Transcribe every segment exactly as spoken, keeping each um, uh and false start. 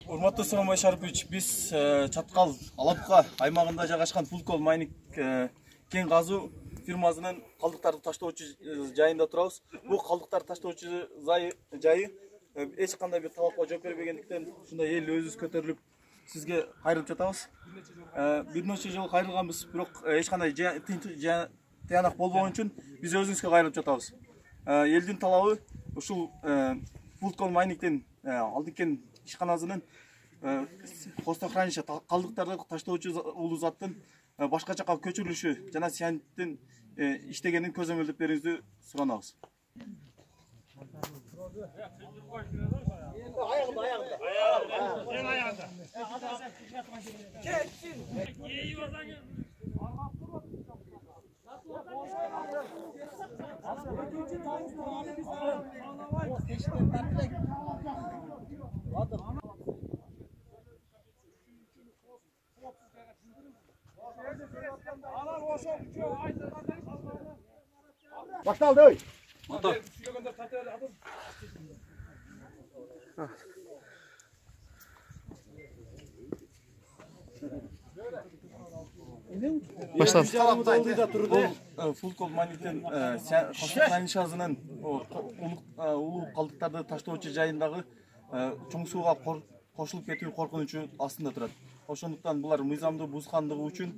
Урматтуу Сооронбай Шарипович, биз Чаткал Алапка аймагында жайгашкан Фулкол майнинг кен казуу фирмасынын калдыктарды таштоочу жайында турабыз. Бул калдыктарды таштоочу жайы эч кандай бир талапка жооп бербегендиктен ушундай эл өзүбүз көтөрүлүп сизге кайрылып жатабыз. Бир нече жолу кайрылганбыз, бирок эч кандай тыянак болбогон үчүн биз өзүбүзгө кайрылып жатабыз. Элдин талабы ушул Фулкол майнингден алдыңкы ишканасынын хвостохранилище калдыктарды таштоочу улуу заттын башка жакка көчүрүлүшү жана сианиттин иштегенин көзөмөлдөп берүүңүздү суранабыз. Ayağında, ayağında. Ayağında. Ayağında. Geçsin. İyi oradan gel. Baştaldı öy. Motor. Baştan. Фулкол майнингден хвостохранилищесинин улуу калдыктарды таштоочу жайындагы чоң сууга кошулуп кетүү коркунучу астында турат. Ошондуктан булар мыйзамды бузгандыгы үчүн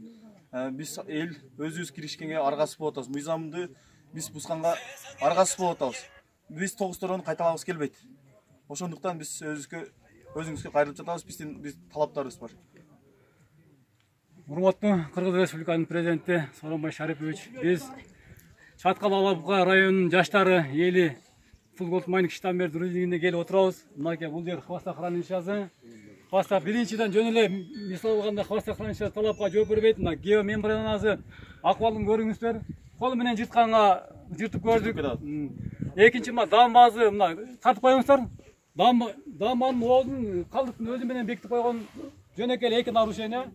биз эл өзүбүз киришкенге аргасыз болуп атабыз. Мыйзамды биз бузганга аргасыз болуп атабыз. Биз тогуз-торонду кайталагыбыз келбейт. Ошондуктан биз өзүбүзгө өзүңүзгө кайрылып жатабыз. Биздин биз талаптарыбыз бар. Урматтуу Кыргыз Республиканын президенти Сооронбай Шарипович, биз Чаткал Алапка районунун жаштары эли Фулкол майнинг штамберди рулингине келип отурабыз. Мынакей бул жер хвостохранилищеси. Хвоста биринчиден жөн эле мисал алганда хвостохранилище талапка жооп бербейт. Мына геомембранасы акыбалын көрүңүздөр. Кол менен жыртканга жыртып көрдүк. Экинчи мына дамбасы мына тартып коюңуздар. Дамба дамбанын оозун калдыктын өзү менен бекитип койгон жөнөкөй эки нарушение.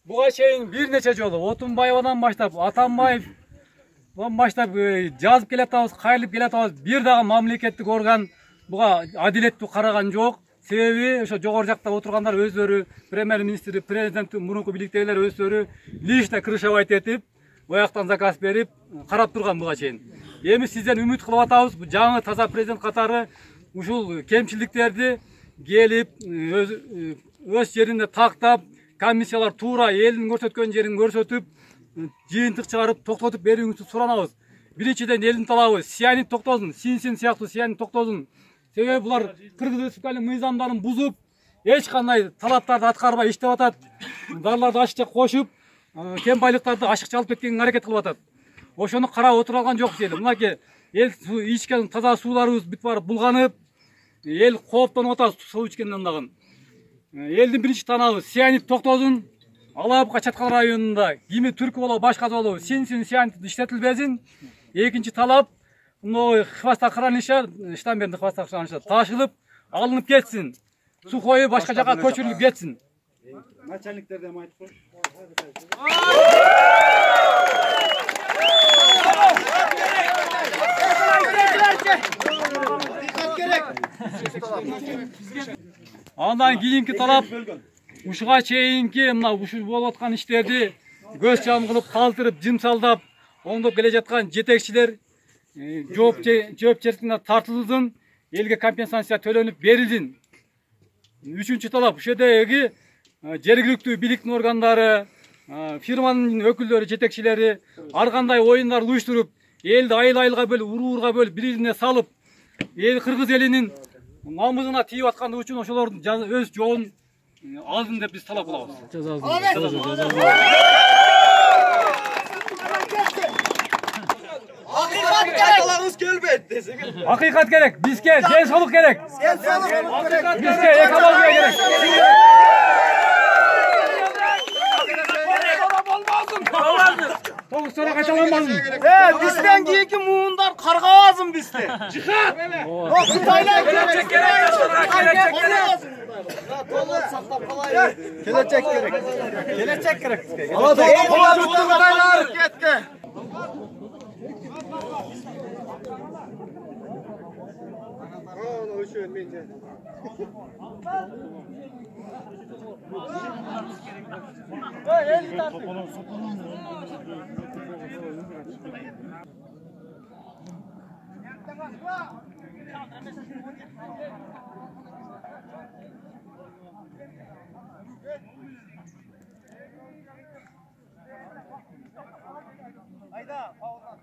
Буга чейин бир нече жолу Отунбаевадан баштап, Атамбаевдан баштап жазып келатабыз, кайрылып келатабыз. Бир дагы мамлекеттик орган буга адилеттүү караган жок. Себеби ошо жогору жакта отургандар өздөрү, премьер-министр, президенттин мурунку бийликтегилер өздөрү лично крышевать этип, бояктан заказ берип, карап турган буга чейин. Эми сизден үмүт кылып атабыз, жаңы таза президент катары ушул кемчиликтерди келип, өз жеринде тактап, комиссиялар туура элдин көрсөткөн жерин көрсөтүп, жыйынтык чыгарып, токтотуп берүүңүздү суранабыз. Биринчиден элдин талабы сианит токтосун, синсин сыяктуу сианит токтосун. Себеби булар Кыргыз Республикасынын мыйзамдарын бузуп, эч кандай талаптарды аткарбай иштеп атат. Дарларды ашыкча кошуп, кен байлыктарды ашыкча алып кеткенге аракет кылып атат. Ошону карап отура алган жокпуз эл. Мынакей эл ичкен таза сууларыбыз бүт барып булганып, эл кооптонуп атат суу ичкенден дагы. Элдин биринчи талабы сианит токтосун. Алапка Чаткал районунда кими түркү болобу, башка болобу синсин сианит иштетилбесин. Экинчи талап мына хвостохранилище, штамберди хвостохранилище ташылып, алынып кетсин. Сухой башка жака көчүрүлүп кетсин. Начальниктерден айтып коюш. Андан кийинки талап ушуга чейинки мына ушул болуп аткан иштерди көз жам кылып, калтырып, жымсалдап, оңдоп келе жаткан жетекчилер жоопкерчиликке тартылсын, элге компенсация төлөнүп берилсин. Үчүнчү талап ушул жердеги жергиликтүү бийликтин органдары, фирманын өкүлдөрү, жетекчилери ар кандай оюндар уюштуруп, элди айыл-айылга бөлүп, уруурга бөлүп, бири-бирине салып, эл кыргыз элинин намысына тийип аткан үчүн ошолордун өз жообун алдын деп биз талап кылабыз. Акыйкат керек. Келбейт десең. Акыйкат керек. Бизге ден соолук керек. Бизге экология керек. Тогуз-тора кайталанбасын. Э, бизден кийинки муундар каргабасын бизди. Жихад. Кытайлар келечек керек. Толук сактап калайын. Келечек керек. Келечек керек бизге. Кытайлар кетке. ошо мен. Ayda, Paul'dan.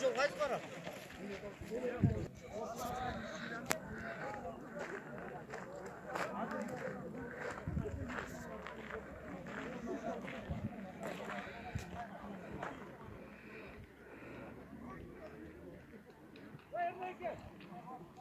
Жол қайсы барады? Wait, wait, wait.